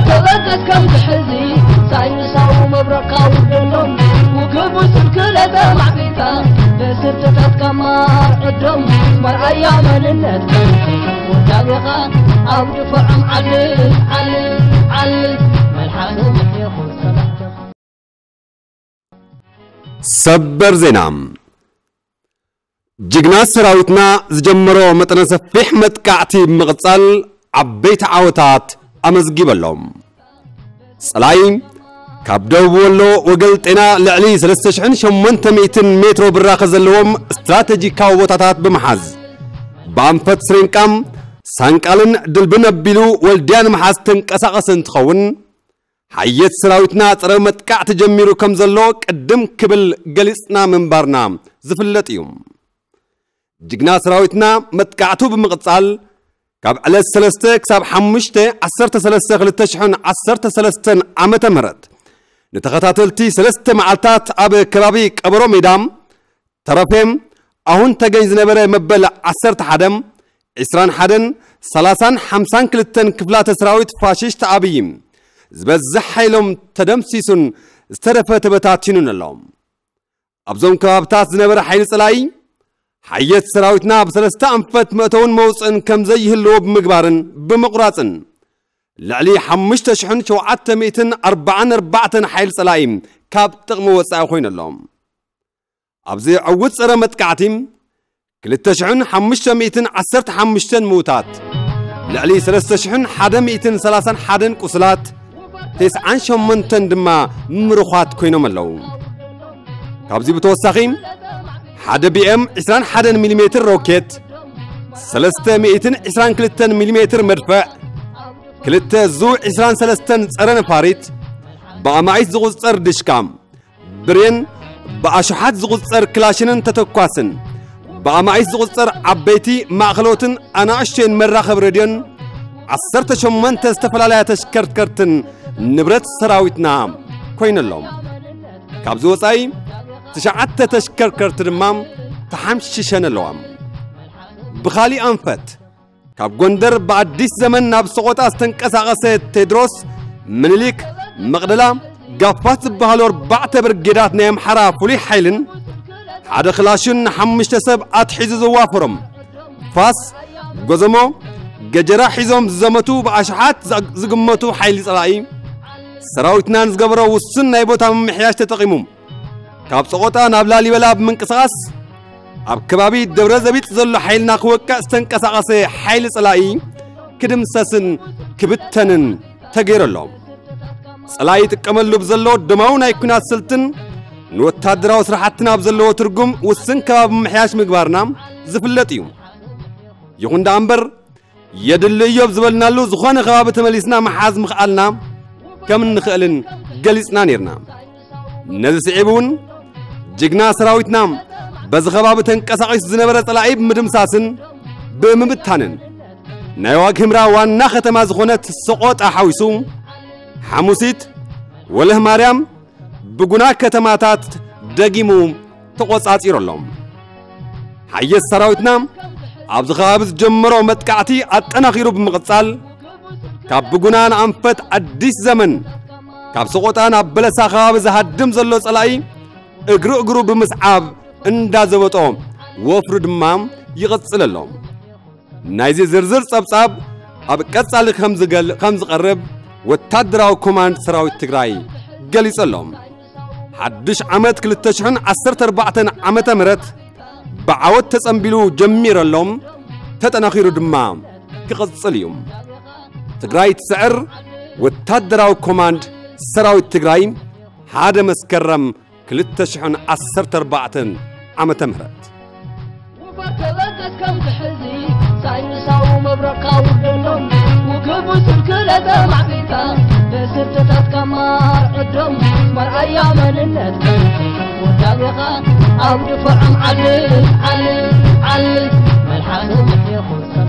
ተበርከት ከም ዝሕዚ ሳይንሳዊ መብረቕ ካውደሎም ውክቡ ስልክለ ተማዕቢታ በስርትታት ከማር ዕዶም መርኣያ መንነት ወዳቤኻ ኣብ ድፈዖም ዓል ዓል ዓል መልሓሱ ምሕየኹ ሰላምተኻ። ሰበር ዜና። ጅግና ሰራዊትና ዝጀመሮ መጠነ ሰፊሕ መጥቃዕቲ ብምቕጻል ዓበይቲ ዓወታት ኣመዝጊበሎም። ጸላኢ ካብ ደቡብ ወሎ ወገል ጤና ልዕሊ ሰለስተ ሽሕን ሸሞንተ ሚእትን ሜትሮ ብራኸ ዘለዎም ስትራተጂካዊ ቦታታት ብምሓዝ ብኣንፈት ስሪንቃም ሳንቃልን ድልብን ኣቢሉ ወልድያ ንምሓዝ ተንቀሳቐሰ እንትኸውን ሓየት ሰራዊትና ጸረ መጥቃዕቲ ጀሚሩ ከም ዘሎ ቅድም ክብል ገሊጽና ምንባርና ዝፍለጥ እዩ። ጅግና ሰራዊትና መጥቃዕቱ ብምቕጻል ካብ ዕለት ሰለስተ ክሳብ ሓሙሽተ ዓሰርተ ሰለስተ ክልተ ሽሕን ዓሰርተ ሰለስተን ዓመተ ምህረት ንተኸታተልቲ ሰለስተ መዓልታት ኣብ ከባቢ ቀበሮ ሜዳ ተረፌም ኣሁን ተገኝ ዝነበረ መበል ዓሰርተ ሓደን ዕስራን ሓደን ሰላሳን ሓምሳን ክልተን ክፍላተ ሰራዊት ፋሽስት ኣብይ ዝበዝሕ ሓይሎም ተደምሲሱን ዝተረፈ ተበታቲኑን ኣሎ። ኣብዞም ከባብታት ዝነበረ ሓይሊ ጸላኢ ሓየት ሰራዊትና ብሰለስተ ኣንፈት መእተውን መውፅእን ከም ዘይህልዎ ብምግባርን ብምቑራፅን ልዕሊ ሓሙሽተ ሽሕን ሸውዓተ ሚእትን ኣርባዓን ኣርባዕተን ሓይሊ ጸላኢ ካብ ጥቕሚ ወጻኢ ኮይኑ ኣሎ። ኣብዚ ዕውት ጸረ መጥቃዕቲ ክልተ ሽሕን ሓሙሽተ ሚእትን ዓሰርተ ሓሙሽተን ምዉታት፣ ልዕሊ ሰለስተ ሽሕን ሓደ ሚእትን ሰላሳን ሓደን ቁስላት፣ ተስዓን ሸሞንተን ድማ ምሩኻት ኮይኖም ኣለዉ። ካብዚ ብተወሳኺ ሓደ ቢኤም ዕስራን ሓደን ሚሊሜትር ሮኬት፣ ሰለስተ ሚእትን ዕስራን ክልተን ሚሊሜትር መድፍዕ፣ ክልተ ዙ ዕስራን ሰለስተን ጸረ ነፋሪት፣ ብኣማኢት ዝቑጸር ድሽካ፣ ብሬን፣ ብኣሽሓት ዝቑጸር ክላሽንን ተተኳስን፣ ብኣማኢት ዝቑጸር ዓበይቲ፣ ማእኸሎትን ኣናእሽተይን መራኸቢ ሬድዮን ዓሰርተ ሸሞንተ ዝተፈላለያ ተሽከርከርትን ንብረት ሰራዊትና ኮይነሎም። ካብዚ ወጻኢ ትሽዓተ ተሽከርከርቲ ድማ ተሓምሽሸን ኣለዋ። ብኻሊእ ኣንፈት ካብ ጎንደር ብኣዲስ ዘመን ናብ ሰቖጣ ዝተንቀሳቐሰ ቴድሮስ፣ ምኒልክ፣ መቕደላ፣ ጋፋት ዝበሃሉ ኣርባዕተ ብርጌዳት ናይ ኣምሓራ ፍሉይ ሓይልን ሓደ ክላሽን ንሓሙሽተ ሰብ ኣትሒዙ ዘዋፈሮም ፋስ፣ ጎዘሞ፣ ገጀራ ሒዞም ዝዘመቱ ብኣሽሓት ዝግመቱ ሓይሊ ጸላኢ ሰራዊትና ንዝገበሮ ውሱን ናይ ቦታ ምምሕያሽ ተጠቒሙ ካብ ጸቖጣ ናብ ላሊበላ ብምንቅስቓስ ኣብ ከባቢ ደብረ ዘቢጥ ዘሎ ሓይልና ክወቅዕ ዝተንቀሳቐሰ ሓይሊ ጸላኢ ክድምሰስን ክብተንን ተገይሩ ኣሎ። ጸላኢ ይጥቀመሉ ብዘሎ ደማዊ ናይ ኲናት ስልትን ንወታደራዊ ስራሕትን ኣብ ዘለዎ ትርጉም ውስን ከባቢ ምምሕያሽ ምግባርና ዝፍለጥ እዩ። ይኹን ደኣ እምበር የድሊ እዮብ ዝበልናሉ ዝኾነ ከባቢ ተመሊስና ምሓዝ ምኽኣልና ከም እንኽእልን ገሊጽና ነይርና። ነዚ ስዒቡ እውን ጅግና ሰራዊትና በዚ ከባቢ ተንቀሳቒሱ ዝነበረ ጸላኢ ብምድምሳስን ብምብታንን ናይ ዋግ ህምራ ዋና ከተማ ዝኾነት ሰቖጣ ሓዊሱ ሓሙሲት፣ ወለህ ማርያም፣ ብጉና ከተማታት ደጊሙ ተቖጻጺሩ ኣሎ። ሓየት ሰራዊትና ኣብዚ ከባቢ ዝጀመሮ መጥቃዕቲ ኣጠናኺሩ ብምቕጻል ካብ ብጉና ንኣንፈት ኣዲስ ዘመን ካብ ሰቖጣ ናብ በለሳ ከባቢ ዝሃድም ዘሎ ጸላኢ እግሪ እግሩ ብምስዓብ እንዳዘበጦ ወፍሩ ድማ ይቕጽል ኣሎ። ናይዚ ዝርዝር ጸብጻብ ኣብ ቀጻሊ ከም ዝገል- ከም ዝቐርብ ወታደራዊ ኮማንድ ሰራዊት ትግራይ ገሊጹ ኣሎ። ሓድሽ ዓመት ክልተ ሽሕን ዓሰርተ ኣርባዕተን ዓመተ ምህረት ብዓወት ተጸንቢሉ ጀሚሩ ኣሎ፣ ተጠናኺሩ ድማ ክቕጽል እዩ። ትግራይ ትስዕር፣ ወታደራዊ ኮማንድ ሰራዊት ትግራይ፣ ሓደ መስከረም ክልተ ሽሕን ዓሰርተ ኣርባዕተን ዓመተ ምህረት። ውፈር ተበርከት ከም ዝሕዚ ሳይንሳዊ መብረቕ ካውደሎም ውክቡ ስልክለ ተማዕቢታ በስርትታት ከማር ዕዶም መርኣያ መንነት ውዳቤኻ ኣብ ድፍዖም ዓል ዓል ዓል መልሓሶም ይኹን